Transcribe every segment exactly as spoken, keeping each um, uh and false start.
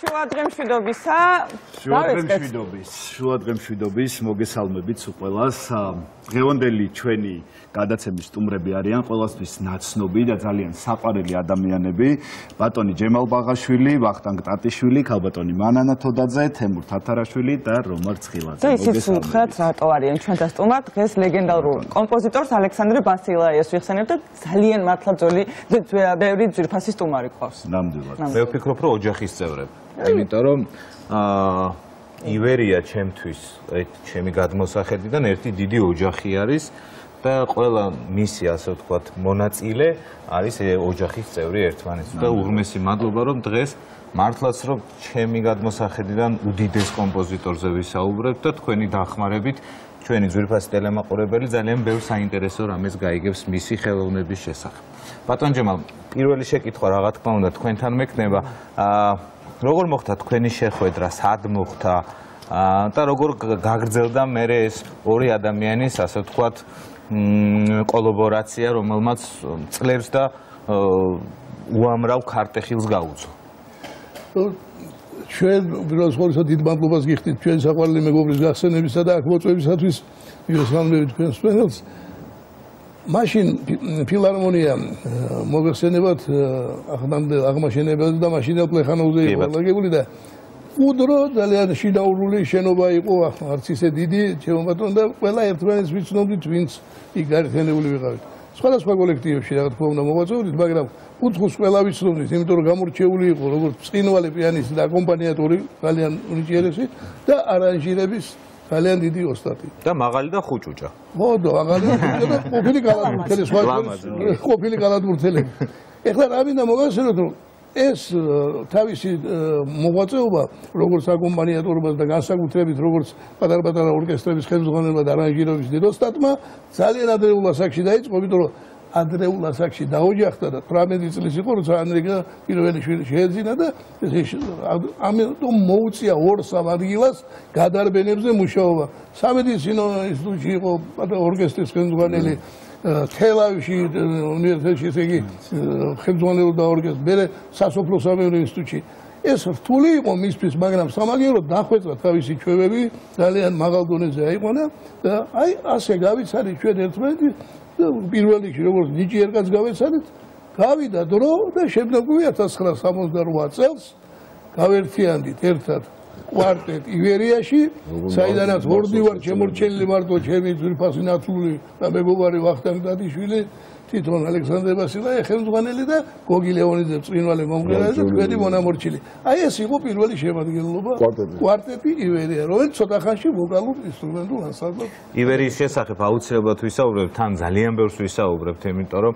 შუადღემშვიდობისა. შუადღემშვიდობის, შუადღემშვიდობის მოგესალმებით ყველას. დღევანდელი ჩვენი გადაცემის სტუმრები არიან ყველასთვის ნაცნობი და ძალიან საყვარელი ადამიანები. ბატონი ჯემალ ბაღაშვილი, ვახტანგ ტატიშვილი, ქალბატონი მანანა თოდაძე, თემურ თათარაშვილი და რომარ ცხილაძე. მოგესალმებით. რატო არიან ჩვენთან სტუმრად? დღეს ლეგენდარულ კომპოზიტორს ალექსანდრე ბასილაიას ვიხსენებთ და ძალიან მართლა ძველი ბევრი ძვირფასი სტუმარი ყავს. ნამდვილად. მე ვფიქრობ, რომ ოჯახის წევრები. იმიტომ რომ აა ივერია ჩემთვის, ჩემი გადმოსახედიდან ერთი დიდი ოჯახი არის და ყველა მისი, ასე ვთქვათ, მონაწილე არის ოჯახის წევრი ერთმანეთს. და უღრმესი მადლობა, რომ დღეს მართლაც რომ ჩემი გადმოსახედიდან უდიდეს კომპოზიტორზე ვისაუბრებთ და თქვენი დახმარებით ჩვენი ძვირფასი ტელემაყურებელი ძალიან ბევრ საინტერესო რამეს გაიგებს მისი ხელოვნების შესახებ. ბატონ ჯემალ, პირველი შეკითხვა რა თქმა უნდა თქვენთან მექნება. აა როგორ მოხდა თქვენი შეხვედრა, სად მოხდა და როგორ გაგრძელდა მერე ეს ორი ადამიანის, ასე ვთქვათ, კოლაბორაცია, რომელმაც წლებს და უამრავ ქარტეხილს გაუძლო. ჩვენ უბრალოდ ხოლმე დიდ მადლობას გიხდით ჩვენ საყვარელი მეგობრის გახსენებისა და აქ მოწვევისათვის მივესალმებით თქვენს ყველას. მაშინ ფილარმონია მოგეხსენებათ აღმაშენებელს და მაშინელ პლეხანოვზე იყო ლაგებული და უდრო ძალიან შინაურული შენობა იყო, არც ისე დიდი, ჩემო ბატონო და ყველა ერთმანეთს ვიცნობდით, ვინც იქ გაერთიანებული ვიყავით. სხვადასხვა კოლექტივებში რა თქმა უნდა მოღვაწეობდით, მაგრამ უცხოს ყველა ვიცნობდით, იმიტომ რომ გამორჩეული იყო როგორც ბრწყინვალე პიანისტი და აკომპანიატორი, ძალიან უნიჭიერესი და არანჟირების ძალიან დიდი ოსტატი. და მაღალი და ხუჭუჭა. მოდო, მაღალი და ხუჭუჭა და ყოფილი კალათბურთელი, სხვა ყოფილი კალათბურთელები. ეხლა რა მინდა მოგახსენოთ, რომ ეს თავისი მოღვაწეობა, როგორც აკომპანიატორობას და განსაკუთრებით როგორც პატარ-პატარა ორკესტრების ხელმძღვანელმა და არანჟირების დიდ ოსტატმა ძალიან ადრეულ ასაკში დაიწყო, იმიტომ რომ ადრეულ ასაკში დაოჯახდა და თვრამეტი წლის იყო, როცა ანრიკა პირველი შვილი შეეძინა და ამიტომ მოუწია ორ-სამ ადგილას გადარბენებზე მუშაობა. სამედიცინო ინსტიტუტში იყო ორკესტრის ხელმძღვანელი, თელავში უნივერსიტეტში, ესე იგი ხელმძღვანელობდა ორკესტრს, მერე სასოფლო-სამეურნეო ინსტიტუტში. ეს რთული იყო მისთვის, მაგრამ სამაგიეროდ დახვეწა თავისი ჩვევები, ძალიან მაღალ დონეზე აიყვანა და აი ასე გავიცადით ჩვენ ერთმანეთი. პირველ რიგში როგორც ნიჭიერკაც გავეცადეთ, გავიდა დრო და შემდგომი ათას ცხრაასა სამოცდარვა წელს გავერთიანდით ერთად კვარტეტ ივერიაში, საიდანაც ვორდივარ შემორჩენილი მარტო ჩემი ძვირფასი ნაცვლი და მეგობარი ვახტანგ ტატიშვილი, თვითონ ალექსანდრე ბასილაია ხელმძღვანელი და გოგი ლეონიძე ბრწყინვალე მომღერალი და თქვენი მონამორჩილი. აი ეს იყო პირველი შემადგენლობა კვარტეტი ივერია, რომელიც ცოტა ხანში ვოკალურ ინსტრუმენტულ ანსამბლად. ივერიის შესახებ აუცილებლად ვისაუბრებთ, თან ძალიან ბევრს ვისაუბრებთ, იმიტომ რომ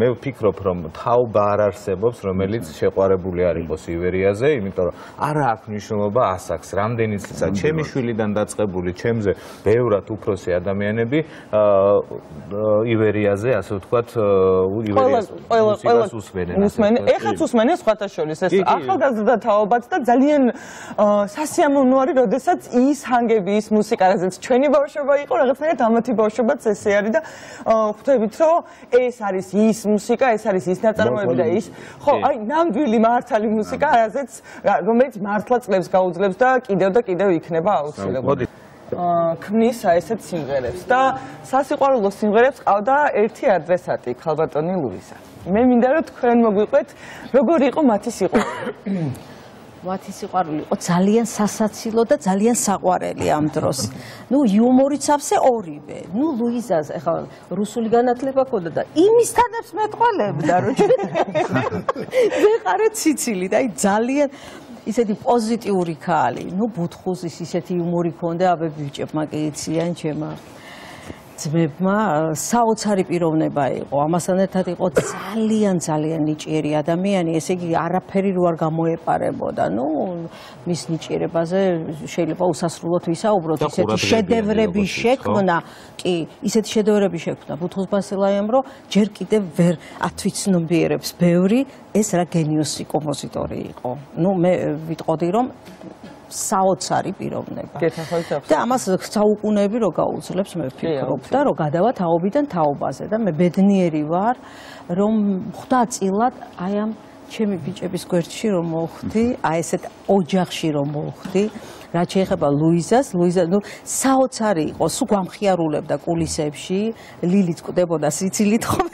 მე ვფიქრობ, რომ თაობა არ არსებობს, რომელიც შეყვარებული არ იყოს ივერიაზე, იმიტომ რომ არა აქვს მნიშვნელობა ასაკს, რამდენი წელია ჩემი შვილიდან დაწყებული, ჩემზე ბევრად უფროსი ადამიანები ივერიაზე ასე ვთქვათ, ივერიას უსმენენ. ეხლაც უსმენენ სხვათა შორის ეს ახალგაზრდა თაობაც და ძალიან სასიამოვნო არის, როდესაც ის ჰანგები, ის მუსიკა, რაც ჩვენი ბავშვობა იყო, რაღაცნაირად ამათი ბავშვობაც ესე არის და ხვდებით, რომ ეს არის ის მუსიკა, ეს არის ის ნაწარმოები და ის, ხო, აი ნამდვილი მართალი მუსიკა, რომელიც მართლა წლებს გაუძლებს და კიდევ და კიდევ იქნება აუცილებლად. ქმნისა ესეთ სიმღერებს და სასიყვარულო სიმღერებს ყავდა ერთი ადრესატი, ქალბატონი ლუიზა. მე მინდა რომ თქვენ მოგვიყვეთ, როგორი იყო მათი სიყვარული. მათი სიყვარული იყო ძალიან სასაცილო და ძალიან საყვარელი ამ დროს. ნუ იუმორიც ავსე ორივე. ნუ ლუიზას ეხლა რუსული განათლება ჰქონდა და იმის თანებს მეტყველებდა, რომ ვეყარე ციცილი და აი ძალიან ისეთი პოზიტიური ქალი, ნუ ბუთხუზის ისეთი იუმორი ქონდა, აბე ბიჭებმა კი იციან ჩემმა ძმებმა, საოცარი პიროვნება იყო. ამასთან ერთად იყო ძალიან ძალიან ნიჭიერი ადამიანი, ესე იგი არაფერი რო არ გამოეპარებოდა. ნუ მის ნიჭიერებაზე შეიძლება უსასრულოდ ვისაუბროთ, ისეთი შედევრები შექმნა, კი, ისეთი შედევრები შექმნა ბუთხუზ ბასილაიამ, რომ ჯერ კიდევ ვერ ათვიცნობიერებს ბევრი ეს რა გენიოსი კომპოზიტორი იყო. ნუ მე ვიტყოდი რომ საოცარი პიროვნება. და ამას საუკუნეები რო გაუძლებს მე ვფიქრობ და რო გადავა თაობიდან თაობაზე და მე ბედნიერი ვარ რომ ხვდა წილად აი ამ ჩემი ბიჭების გვერდში რომ მოვხვდი, აი ესეთ ოჯახში რომ მოვხვდი, რაც შეეხება ლუიზას, ლუიზა ნუ საოცარი იყო, სულ გვამხიარულებდა კულისებში, ლილიც კვდებოდა სიცილით ხომ,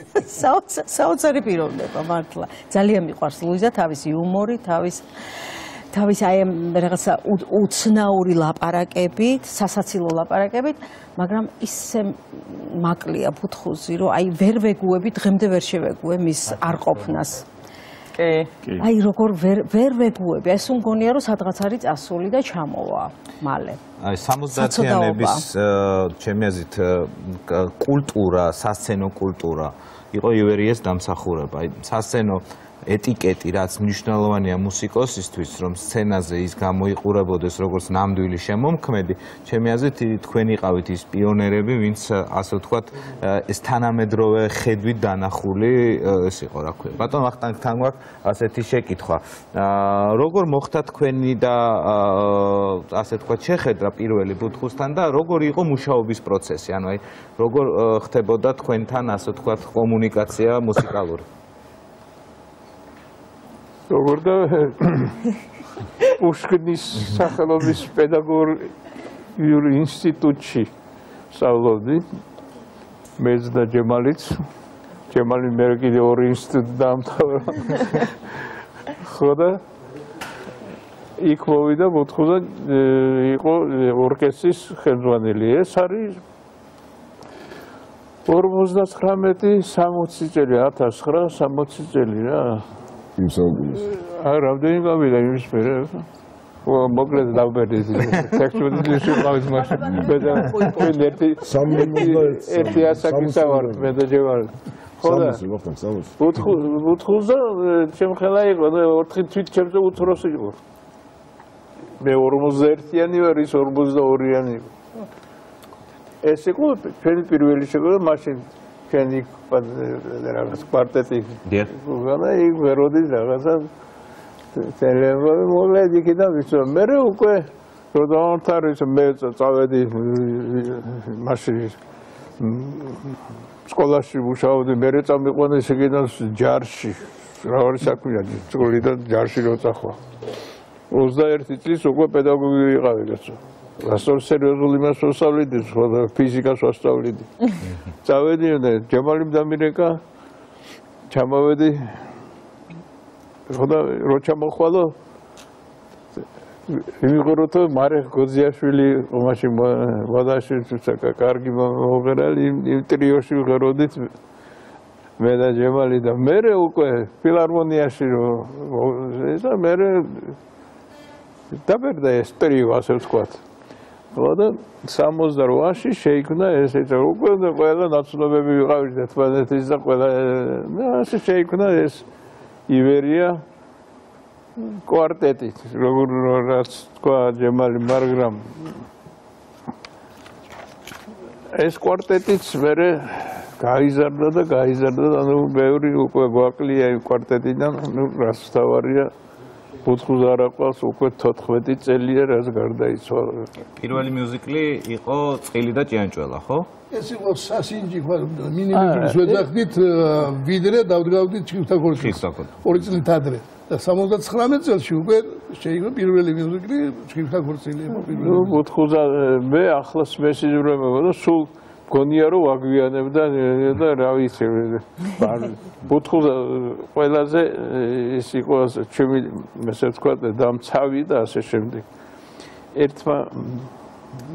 საოცარი პიროვნება მართლა. ძალიან მიყვარს ლუიზა თავისი იუმორი, თავის თავის აი რაღაცა უცნაური ლაპარაკებით, სასაცილო ლაპარაკებით, მაგრამ ისე მაკლია ბუთხუზი, რომ აი ვერ ვეგუები, დღემდე ვერ შევეგუე მის არყოფნას. კი. აი როგორ ვერ ვერ ვეგუები, ეს უმგონია რომ სადღაც არის წასული და ჩამოვა მალე. აი სამოცდაათიანების ჩემი აზრით კულტურა, სასცენო კულტურა იყო ივერიეს დამსახურება. აი სასცენო ეტიკეტი, რაც მნიშვნელოვანია მუსიკოსისთვის, რომ სცენაზე ის გამოიყურებოდეს როგორც ნამდვილი შემომქმედი, ჩემი აზრით თქვენ იყავით ის პიონერები, ვინც ასე ვთქვათ, ეს თანამედროვე ხედვით დანახული ეს იყო, რა ქვია. ბატონ ვახტანგთან გვაქვს ასეთი შეკითხვა. როგორ მოხდა თქვენი და ასე ვთქვათ, შეხედრა პირველი ბუთხუსთან და როგორ იყო მუშაობის პროცესი? ანუ აი როგორ ხდებოდა თქვენთან ასე ვთქვათ კომუნიკაცია მუსიკალური? როგორ და პუშკინის სახელობის პედაგოგიურ ინსტიტუტში სწავლობდი მეც და ჯემალიც ჯემალი მე კიდე ორი ინსტიტუტი დაამთავრა ხო და იქ მოვიდა ბუთხუზა იყო ორკესტრის ხელმძღვანელი ეს არის ორმოცდათხრამეტი სამოცი წელი ათას ცხრაასი სამოცი წელი რა იმ საუკუნის. აი, რამდენი გავიდა იმის მერე? მოკლედ დავბერდი. ტექსტური შეყავით მაშინ. მე და ერთი ერთი ასაკისა ვარ, მე და ჯევარ. ხო და ბუთხუზა ჩემ ხელა იყო, ოთხი თვით ჩემზე უთროსი იყო. მე ორმოცდაერთიანი ვარ, ის ორმოცდაორიანი იყო. ეს იყო ჩვენი პირველი შეკვეთა მაშინ ჩვენი რაღაც კვარტეტი და იქ ვეროდის რაღაცა ტელევიზორი მოვლედ იქიდან ვიცო მე უკვე რო დავამთავრე მე წავედი მაშინ სკოლაში მუშაობდი მე წამიყვანე შეგიდან ჯარში რა საქმეა სკოლიდან ჯარში რო წახვა ოცდაერთი წლის უკვე პედაგოგი ვიყავი კაცო ასწავლე სერიოზული მას ვსწავლედი, ფიზიკას ვსწავლედი. წავედი და ჯემალიმ დამირეკა, ჩამოვედი. ხოდა რო ჩამოხვალო, იმღეროთო მარეხ გოძიაშვილი მაშინ ვადაში კარგი მოღერალი იმ ტრიოში ვღეროდით მე და ჯემალი და მე უკვე ფილარმონიაში და მე დაბერდა ეს ტრიო ასე ვთქვათ. და სამოცდაოთხში შეიქმნა ესეც უკვე ყველა ნაცნობები ვიყავით ერთმანეთის და ყველა ასე შეიქმნა ეს ივერია კვარტეტი როგორ რაც თქვა ჯემალი მაგრამ ეს კვარტეტიც მერე გაიზარდა და გაიზარდა და ნუ ბევრი უკვე გვაკლია იმ კვარტეტიდან ნუ რაც თავარია ბუთხუზ არაყავს უკვე თოთხმეტი წელია რაც გარდაიცვალა. პირველი მიუზიკლი იყო წილი და ჭიანჭველა, ხო? ეს იყო სასინჯი ხო მინიმუმის ვეძახდით ვიდრე დავდგავდით ჩიქთა ქორწილს. ორი წლით ადრე და სამოცდათხრამეტ წელს უკვე შეიქმნა პირველი მიუზიკლი ჩიქთა ქორწილი იყო პირველი. ნუ ბუთხუზა მე ახლას მესიძვრებოდა და სულ გონია რომ აგვიანებდა და რა ვიცი ბუთხუზა ყველაზე ის იყო ჩემი ესე ვთქვა დამცავი და ასე შემდეგ ერთმა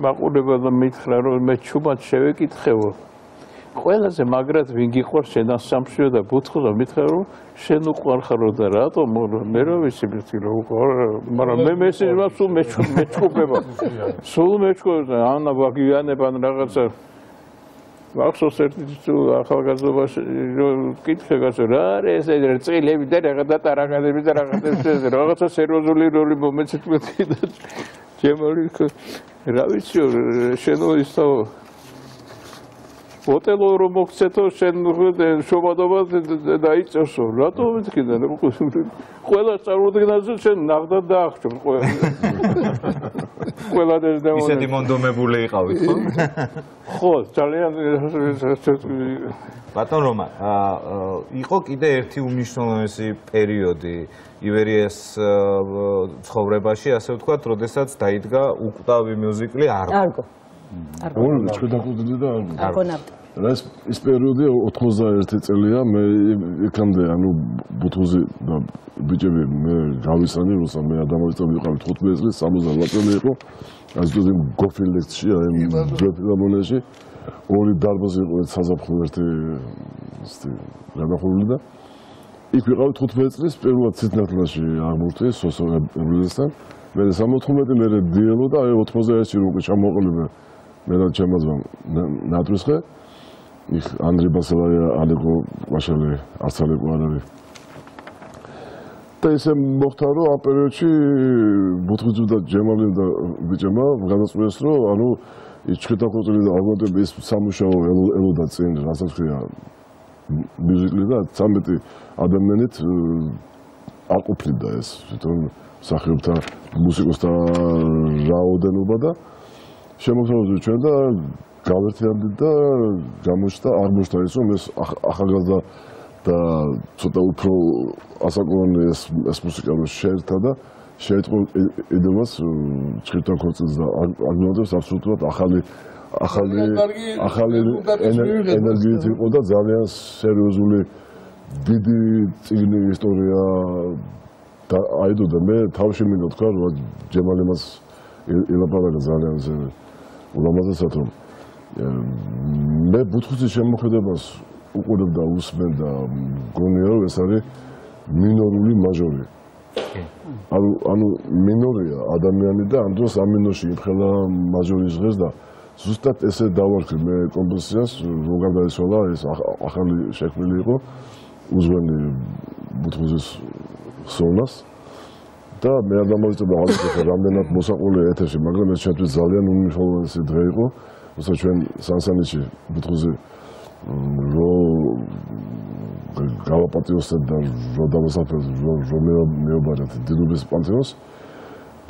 მაყურებელმა მითხრა რომ მე ჩუმად შევეკითხეო ყველაზე მაგრად ვინ გიყვარს შენ სამშიო და ბუთხუზა მითხრა რომ შენ უყვარ ხარო და რატომ მე რა ვიცი მითი რომ უყვარ მაგრამ მე მესიძმა სულ მეჩქუბება სულ მეჩქუბება ანა ვაგვიანებან რაღაცა მახსოვს ერთი თუ ახალგაზრდობაში ვკითხე კაცო რა არის ეს წილები და რაღაც დატარაღადები და რაღაცა რაღაცა სერიოზული როლი მომეცეთმეთი და ჯემალი რა ვიცი შენო ისო ოტელო რომ მოგცეთო შენ შობადობა დაიწევსო რატო მეთქიდა ყველა წარმოდგენაზე შენ ნახდა დაახჭო ყველა ყველადაც დამონე. ისეთი მონდომებული იყავით, ხო? ხო, ძალიან ბატონ რომა, იყო კიდე ერთი უმნიშვნელოვანესი პერიოდი ივერიას ცხოვრებაში, ასე ვთქვათ, როდესაც დაიდგა უკვდავი მიუზიკლი არგო. არგო. არგო. ჩქუდაკუდდი და არგო. არგონავტი. ეს ის პერიოდი ოცდაერთი წელია, მე იქამდე ანუ ბუთუზი და ბიჭები მე გავისანი, როცა მე ადამიანთან ვიყავი თხუთმეტი წელი, სამოცდაოთხ წელი იყო. ასეთი გოფილექსში, აი დრაფილამონეში ორი დარბაზი იყო საზაფხულო ერთი ისეთი გადახურული და იქ ვიყავი თხუთმეტი წლის პირველად ციტნათლაში აღმოჩნდი სოსო ებრილესთან. მე სამოთხმეტი მე დიელო და აი ოთხმოცდაერთში რო ჩამოყოლიბე მე და ჩემაზმა ნატრისხე იქ ანდრე ბასალაია ალეკო ყვაშალი არც ალეკო არ არის და ისე მოხდა რომ ამ პერიოდში ბუთუზი და ჯემალი და ბიჭებმა გადაწყვეტეს რომ ანუ ის ჩქეთაკოწილი და აგონტები ის სამუშაო ელოდა წინ რასაც ქვია მუსიკი და ცამეტი ადამიანით აყოფლიდა ეს თვითონ მსახიობთა მუსიკოსთა რაოდენობა და შემოგვიყვება ჩვენ და გავერთიანდით და გამოჩნდა აღმოჩნდა ის რომ ეს ახალგაზრდა და ცოტა უფრო ასაკოვანი ეს ეს მუსიკა რომ შეერთა და შეეწყო იდეას ჩქეთაკოწილს და აგნოდებს აბსოლუტურად ახალი ახალი ახალი ენერგიით იყო და ძალიან სერიოზული დიდი წიგნი ისტორია და აიდო და მე თავში მინდა თქვა რომ ჯემალი მას ელაპარაკა ძალიან ზე ულამაზესად რომ მე ბუთუზის შემოქმედებას უყურებ და უსმენ და მგონია რომ ეს არის მინორული მაჟორი ანუ ანუ მინორია ადამიანი და ამ დროს ამ მინორში იმხელა მაჟორის ღეს და ზუსტად ესე დავარქვი მე კომპოზიციას რომ გადაეცვალა ეს ახალი შექმნილი იყო უზვენი ბუთუზის სოლას და მე არ დამოვიწყდა აღარ რამდენად მოსაყოლია ეთერში მაგრამ ეს ჩვენთვის ძალიან უმნიშვნელოვანესი დღე იყო როცა ჩვენ სანსანიჩი ბუთუზი რო გავაპატიოსეთ და რო დავასაფრეთ რო მეუბარეთ დილობის პანთეონს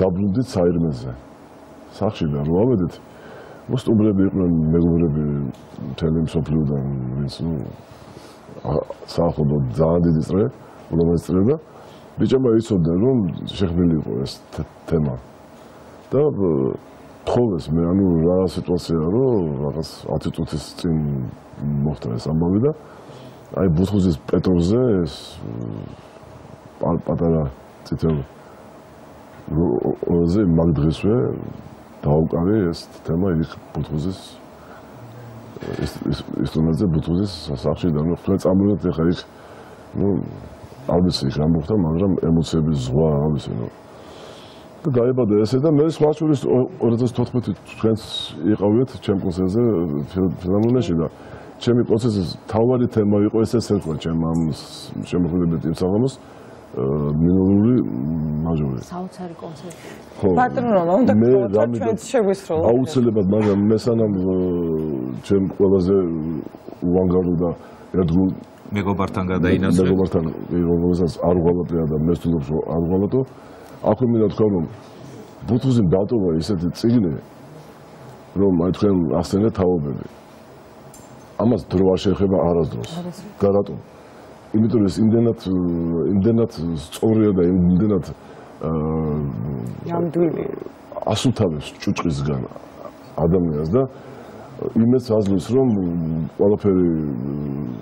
დაბრუნდით საირმეზე სახში და რო ავედით მოსტუმრები იყვნენ მეგობრები მთელი მსოფლიოდან ვინც ნუ საერთოდ ძალიან დიდი წრე ულამაზესი წრე და ბიჭებმა იცოდნენ რომ შექმნილი იყო ეს თემა და თხოვეს მე ანუ რა სიტუაციაა რომ რაღაც ათი წუთის წინ მოხდა ეს ამბავი და აი ბუთუზის პეტროზე ეს პატარა წითელ როზე მაგდრესვე დაუკავე ეს თემა იქ ბუთუზის ინსტრუმენტზე ბუთუზის სახში და ნუ თქვენ წამოვიდეთ ახლა იქ ნუ არ ვიცი რა მოხდა მაგრამ ემოციების ზღვა რა ვიცი ნუ და დაიბადა ესე და მე სხვა შორის ორი ათას თოთხმეტი თქვენს იყავით ჩემ კონცერტზე ფილარმონიაში და ჩემი კონცერტის თავარი თემა იყო ესეც ერქვა ჩემ ამ შემოქმედებით იმ საღამოს მინორული მაჟორი საოცარი კონცერტი ხო ბატონო რომა უნდა გქონოთ ჩვენც შეგვისროლა აუცილებლად მაგრამ მე სანამ ჩემ ყველაზე უანგარო და ერთგულ მეგობართან გადაინაცვლე მეგობართან რომელსაც არ უღალატია და მე ვთვლობს რომ არ უღალატო აქვე მინდა თქვა რომ ბუთუზიმ დატოვა ისეთი წიგნი რომ აი თქვენ ახსენეთ თაობები ამას დრო არ შეეხება არასდროს და რატომ იმიტომ რომ ეს იმდენად იმდენად სწორია და იმდენად ნამდვილი ასუთავებს ჭუჭყისგან ადამიანს და იმეც აძლევს რომ ყველაფერი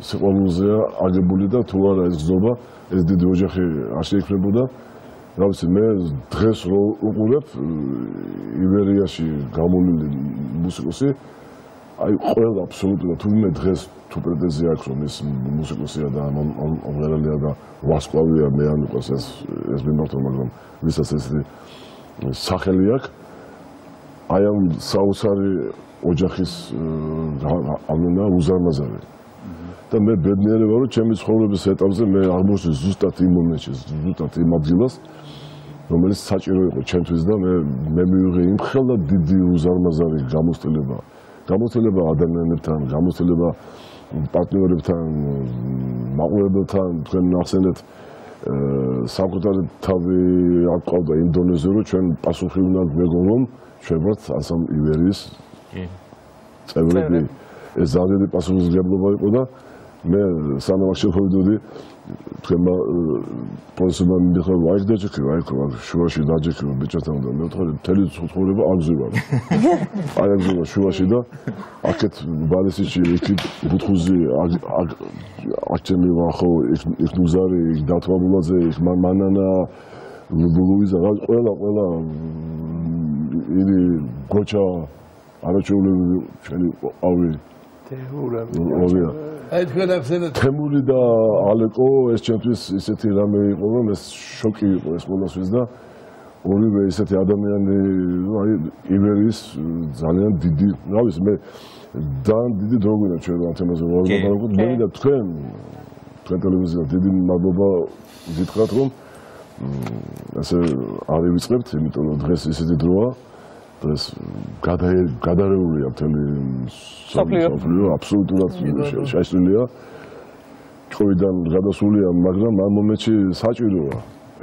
სიყვარულზეა აგებული და თუ არა ეს გზობა ეს დიდი ოჯახი არ შეიქმნებოდა რა ვიცი მე დღეს რო უყურებ ივერიაში გამოვლილი მუსიკოსი აი ყველა აბსოლუტურად თუ მე დღეს თუ პრეტენზია აქვს რომ ეს მუსიკოსია და მომღერალია და ვარსკვლავია მე არ მიყვარს ეს ეს მიმართვა მაგრამ ვისაც ესეთი სახელი აქვს აი ამ საოცარი ოჯახის ამენა უზარმაზარი და მე ბედნიერი ვარ რომ ჩემი ცხოვრების ეტაპზე მე აღმოჩნდი ზუსტად იმ მომენტში ზუსტად იმ ადგილას რომელიც საჭირო იყო ჩემთვის და მე მე მივიღე იმ ხელა დიდი უზარმაზარი გამოცდილება გამოცდილება ადამიანებთან გამოცდილება პარტნიორებთან მაყურებელთან თქვენ ახსენეთ საკუთარი თავი აკავდა იმ დონეზე, რომ ჩვენ პასუხი უნდა გვეგონ, რომ ჩვენ ვართ ანსამბლ ივერიის წევრები. ეს ძალიან დიდი პასუხისმგებლობა იყო და მე სანამ შევხვდები თქვენმა პროფესორმა მიხარ ვაიქ დაჭიქი, ვაიქ შუაში დაჭიქი ბიჭებთან და მე ვთქვი მთელი ცხოვრება აგზევარ. აი აგზევარ შუაში და აქეთ ბალესიში იქით ბუთხუზი აქჩემი ვახო იქ ნუზარი დათვაბულაძე იქ მანანა ლუიზა ყველა ყველა ილი გოჩა არაჩეულები ჩვენი ავი თემური აი თქვენ ახსენეთ თემური და ალეკო ეს ჩემთვის ისეთი რამე იყო რომ ეს შოკი იყო ეს ყველასთვის და ორივე ისეთი ადამიანი აი ივერიის ძალიან დიდი რა ვიცი მე ძალიან დიდი დრო გვინდა ჩვენ ამ თემაზე ვარგობთ მე და თქვენ თქვენ ტელევიზია დიდი მადლობა გითხრათ რომ ასე არ ვიწყებთ იმიტომ რომ დღეს ისეთი დროა ეს გადარეულია მთელი სოფლიო აბსოლუტურად შეშლილია COVID-დან გადასულია მაგრამ ამ მომენტში საჭიროა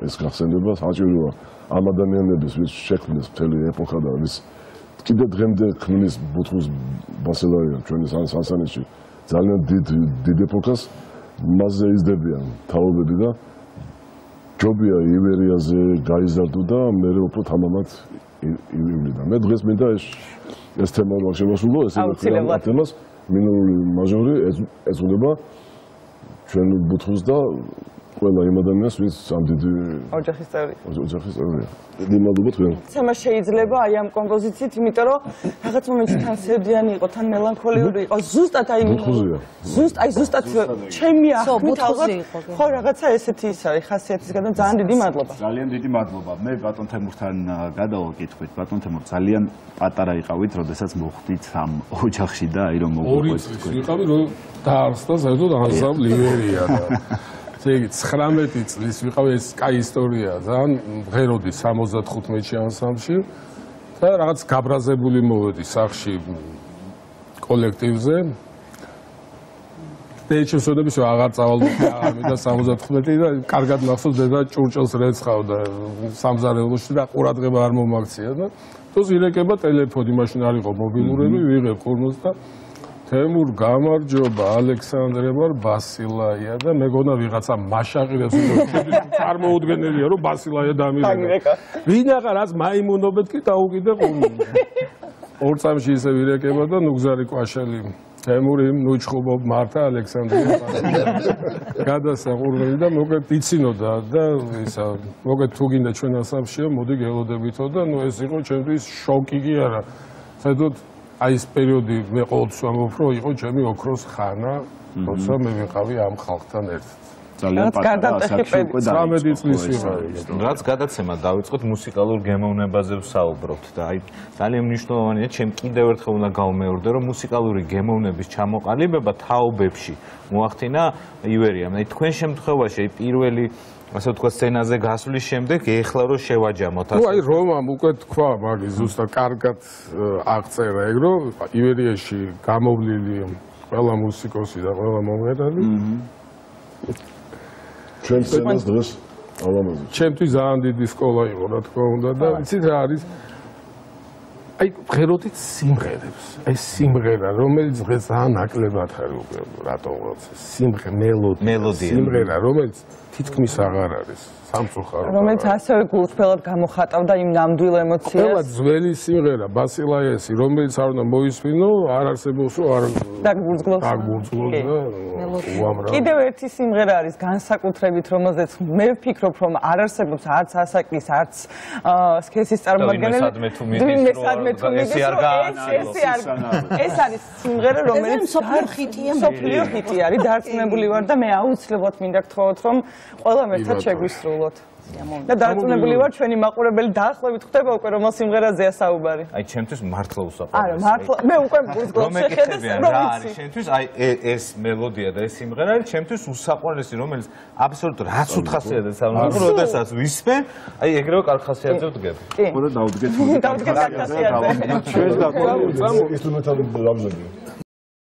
ეს გახსენდება საჭიროა ამ ადამიანების ვის შექმნეს მთელი ეპოქა და ვის კიდე დღემდე ქმნის ბუთხუს ბასილარიან ჩვენი სასანეში ძალიან დიდ დიდ ეპოქას მასზე იზრდებიან თაობები და ჯობია ივერიაზე გაიზარდო და მე უფრო თამამად ივლიდა. მე დღეს მინდა ეს ეს თემა რა შევასრულო, ესე ვქნა თემას მინერალური მაჟორი ეწოდება ჩვენ ბუთხუს და ყველა იმ ადამიანს ვინც ამ დიდი ოჯახის წევრი. ოჯახის წევრია. დიდი მადლობა თქვენ. თემა შეიძლება აი ამ კომპოზიციით, იმიტომ რომ რაღაც მომენტში თან სევდიანი იყო, თან მელანქოლიური იყო, ზუსტად აი ზუსტ აი ზუსტად ჩემი ახმით ალბათ ხო რაღაცა ესეთი ის არის ხასიათისგან და ძალიან დიდი მადლობა. ძალიან დიდი მადლობა. მე ბატონ თემურთან გადავაკითხვით, ბატონ თემურ ძალიან პატარა იყავით, როდესაც მოხვდით ამ ოჯახში და აი რომ მოგვიყვეთ. ორი წლის ვიყავი, რომ დაარსდა საერთოდ ანსამბლ ივერია და ეგ ცხრამეტი წლის ვიყავი ეს კაი ისტორია ძალიან მღეროდი სამოცდახუთში ანსამბლში და რაღაც გაბრაზებული მოვედი სახში კოლექტივზე დეჩოსოდები რომ აღარ წავალდი აღარ მინდა სამოცდახუთი და კარგად მახსოვს დედა ჭურჭელს რეცხავდა სამზარეულოში და ყურადღება არ მომაქცია და თოს ირეკება ტელეფონი მაშინ არ იყო მობილურები ვიღებ ხურმოს და თემურ გამარჯობა ალექსანდრე ვარ ბასილაია და მეგონა ვიღაცა მაშაყირებს წარმოუდგენელია რომ ბასილაია დამირეკა ვინახა რაც მაიმუნობეთ კი დაუყიდე ყურმო ორ წამში ისე ვირეკება და ნუ გზარი კვაშელი თემური ნუ ჩხუბობ მართა ალექსანდრე გადასაყურებელი და მოგეთ იცინოდა და ისა მოგეთ თუ გინდა ჩვენ ასამშია მოდი გელოდებითო და ნუ ეს იყო ჩემთვის შოკი კი არა საერთოდ აი ეს პერიოდი მე ყოველთვის ვამბობ რომ იყო ჩემი ოქროს ხანა როცა მე ვიყავი ამ ხალხთან ერთად ძალიან პატარა ასაკში უკვე ცხრამეტი წლის ვიყავი რაც გადაცემა დავიწყოთ მუსიკალურ გემოვნებაზე ვსაუბრობთ და აი ძალიან მნიშვნელოვანია ჩემ კიდევ ერთხელ უნდა გავმეორდე რომ მუსიკალური გემოვნების ჩამოყალიბება თაობებში მოახდინა ივერიამ აი თქვენ შემთხვევაში აი პირველი ასე ვთქვათ სცენაზე გასვლის შემდეგ ეხლა რომ შევაჯამოთ ასე. ნუ აი რომამ უკვე თქვა მაგის ზუსტად კარგად აღწერა ეგ რომ ივერიაში გამოვლილი ყველა მუსიკოსი და ყველა მომღერალი. ჩვენ სცენას დღეს ალამაზი. ჩემთვის ძალიან დიდი სკოლა იყო რა თქმა უნდა და იცით რა არის აი ღეროდით სიმღერებს. ეს სიმღერა რომელიც დღეს ძალიან ნაკლებად ხარ უკვე რატომ სიმღერა მელოდია სიმღერა რომელიც თითქმის აღარ არის სამწუხაროდ რომელიც ასევე გულწრფელად გამოხატავდა იმ ნამდვილ ემოციას ყველა ძველი სიმღერა ბასილაიესი რომელიც არ უნდა მოისმინო არ არსებობს რომ არ დაგბურძგლოს დაგბურძგლოს და უამრავ კიდევ ერთი სიმღერა არის განსაკუთრებით რომელზეც მე ვფიქრობ რომ არ არსებობს არც ასაკის არც სქესის წარმომადგენელი მესადმე თუ ეს არ გაანალო ეს არის სიმღერა რომელიც სოფლიო ხიტია სოფლიო ხიტი არის დარწმუნებული ვარ და მე აუცილებლად მინდა გთხოვოთ რომ ყველამ ერთად შეგვისრულოთ და დარწმუნებული ვარ ჩვენი მაყურებელი დაახლოებით ხვდება უკვე რომელ სიმღერაზეა საუბარი აი ჩემთვის მართლა უსაყვარლესია არა მართლა მე უკვე მგულსგლობს შეხედეს რა არის ჩემთვის აი ეს მელოდია და ეს სიმღერა არის ჩემთვის უსაყვარლესი რომელიც აბსოლუტურად რაც უთხასიათებს ანუ როდესაც ვისმენ აი ეგრევე კარგ ხასიათზე ვდგები ხო და დავდგეთ დავდგეთ ხასიათზე ჩვენ და ინსტრუმენტალური რამზები